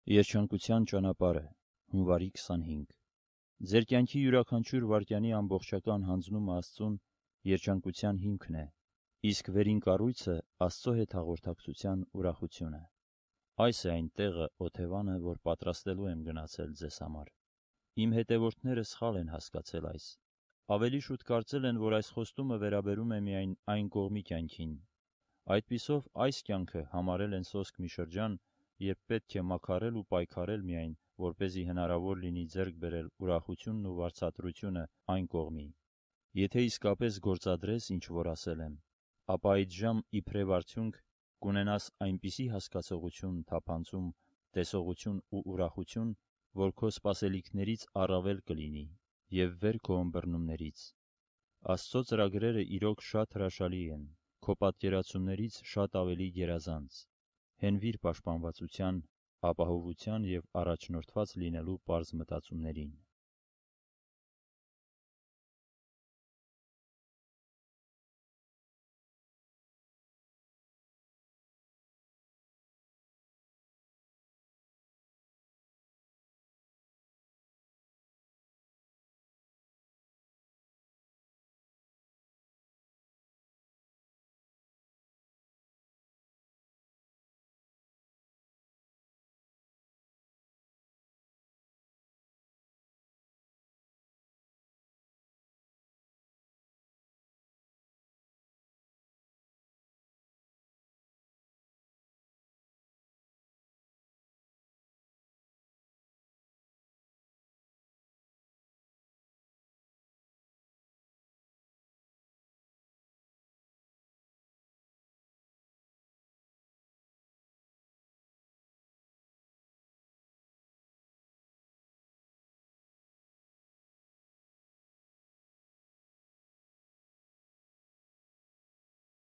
Երջանկության ճանապարհը, հունվարի 25։ Ձեր կյանքի յուրաքանչյուր վայրկյանի ամբողջական հանձնումը Աստծուն երջանկության հիմքն է, իսկ վերին կառույցը Աստծո հետ հաղորդակցության ուրախությունը։ Այս է այն տեղը, օթևանը, որ պատրաստելու եմ գնացել ձեզ համար։ Իմ հետևորդները սխալ են հասկացել այս։ Ավելի շուտ կարծել են, որ այս խոստումը վերաբերում է միայն այն կողմի կյանքին։ Այդպիսով այս կյանքը համարել են սոսկ մի շրջան, երբ պետք է մաքարել ու պայքարել միայն, որպեսզի հնարավոր լինի ձեռք բերել ուրախությունն ու վարձատրությունը այն կողմի։ Եթե իսկապես գործադրես, ինչ որ ասել եմ, ապա այդժամ իբրև արդյունք կունենաս այնպիսի հասկացողություն, թափանցում, տեսողություն ու ուրախություն, որ քո սպասելիքներից առավել կլինի և վեր քո ըմբռնումներից։ Աստծո ծրագրերը իրոք շատ հրաշալի են, քո պատկերացումներից շատ ավելի գերազանց։ Հենվիր պաշտպանվածության, ապահովության և առաջնորդված լինելու պարզ մտածումներին։